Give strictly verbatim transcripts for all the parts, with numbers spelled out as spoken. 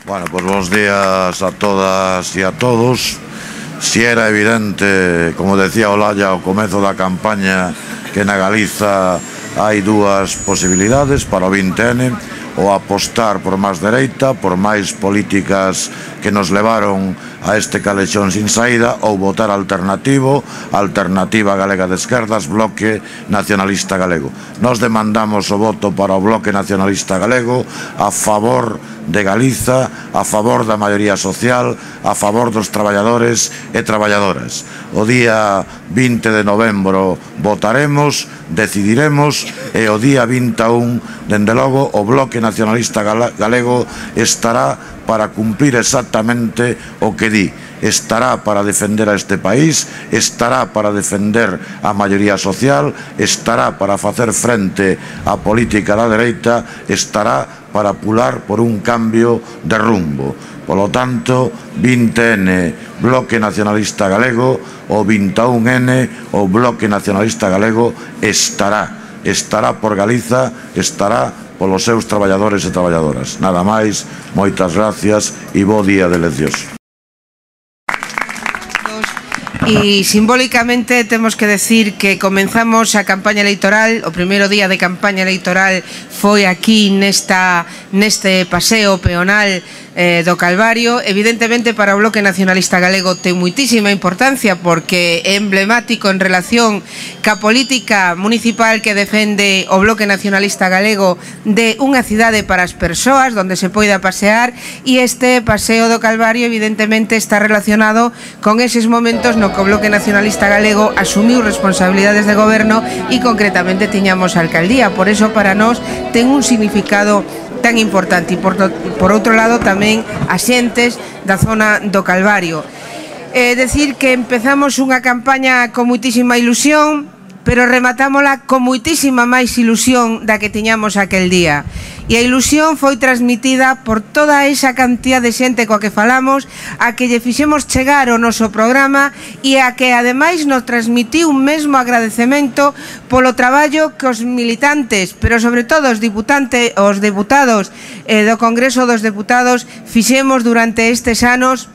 Bueno, pues bons días a todas e a todos. Si era evidente, como decía Olalla ao comezo da campaña, que na Galiza hai dúas posibilidades para o vinte ene, ou apostar por máis dereita, por máis políticas que nos levaron a este calexón sin saída, ou votar alternativo, Alternativa Galega de Esquerdas, Bloque Nacionalista Galego. Nos demandamos o voto para o Bloque Nacionalista Galego a favor de Galiza, a favor da maioría social, a favor dos traballadores e traballadoras. O día vinte de novembro votaremos, decidiremos, e o día vinte e un, dende logo, o Bloque Nacionalista Galego estará para cumplir exactamente o que di. Estará para defender a este país, estará para defender a maioría social, estará para facer frente á política da dereita, estará para pular por un cambio de rumbo. Polo tanto, vinte ene, Bloque Nacionalista Galego, o vinte e un ene, o Bloque Nacionalista Galego estará. Estará por Galiza, estará polos seus traballadores e traballadoras. Nada máis, moitas gracias e bo día de eleccións. E simbólicamente temos que decir que comenzamos a campaña electoral, o primeiro día de campaña electoral foi aquí nesta, neste paseo peonal eh, do Calvario. Evidentemente para o Bloque Nacionalista Galego ten moitísima importancia porque é emblemático en relación ca política municipal que defende o Bloque Nacionalista Galego de unha cidade para as persoas onde se poida pasear, e este paseo do Calvario evidentemente está relacionado con eses momentos no que o Bloque Nacionalista Galego asumiu responsabilidades de goberno e concretamente tiñamos a alcaldía. Por eso para nós ten un significado tan importante, e por, por outro lado tamén as xentes da zona do Calvario. É decir que empezamos unha campaña con moitísima ilusión, pero rematámola con moitísima máis ilusión da que tiñamos aquel día. E a ilusión foi transmitida por toda esa cantidad de xente coa que falamos, a que lle fixemos chegar o noso programa e a que ademais nos transmitiu un mesmo agradecemento polo traballo que os militantes, pero sobre todo os deputantes, os deputados eh, do Congreso dos Deputados fixemos durante estes anos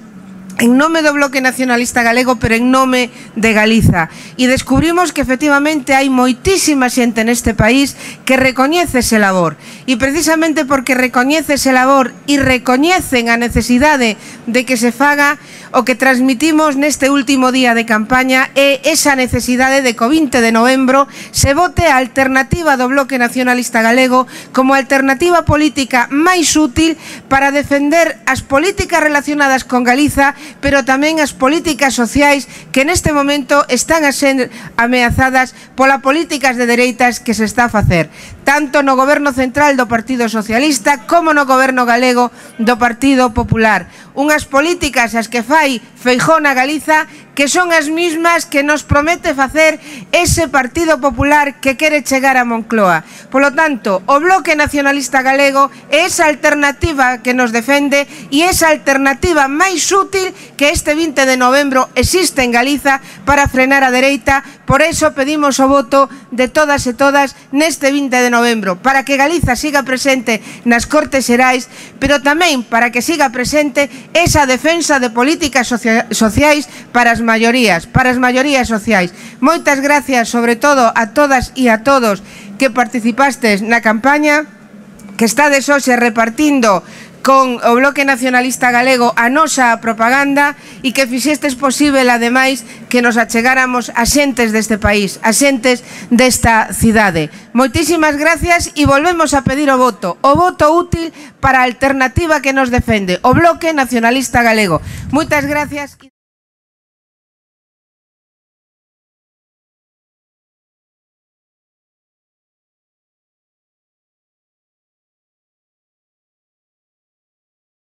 en nome do Bloque Nacionalista Galego, pero en nome de Galiza. E descubrimos que efectivamente hai moitísima xente neste país que recoñece ese labor. E precisamente porque recoñece ese labor e recoñecen a necesidade de que se faga, o que transmitimos neste último día de campaña é esa necesidade de que o vinte de novembro se vote a alternativa do Bloque Nacionalista Galego como alternativa política máis útil para defender as políticas relacionadas con Galiza, pero tamén as políticas sociais que neste momento están a ser ameazadas polas políticas de dereitas que se está a facer, tanto no goberno central do Partido Socialista como no goberno galego do Partido Popular. Unhas políticas as que fai Feijóo na Galiza que son as mismas que nos promete facer ese Partido Popular que quere chegar a Moncloa. Polo tanto, o Bloque Nacionalista Galego é esa alternativa que nos defende e esa alternativa máis útil que este vinte de novembro existe en Galiza para frenar a dereita. Por eso pedimos o voto de todas e todas neste vinte de novembro, para que Galiza siga presente nas Cortes Xerais, pero tamén para que siga presente esa defensa de políticas sociais para as maiorías, para as maiorías sociais. Moitas gracias, sobre todo, a todas e a todos que participastes na campaña, que estades hoxe repartindo con o Bloque Nacionalista Galego a nosa propaganda e que fixestes posible, ademais, que nos achegáramos a xentes deste país, a xentes desta cidade. Moitísimas gracias e volvemos a pedir o voto, o voto útil para a alternativa que nos defende, o Bloque Nacionalista Galego. Moitas gracias.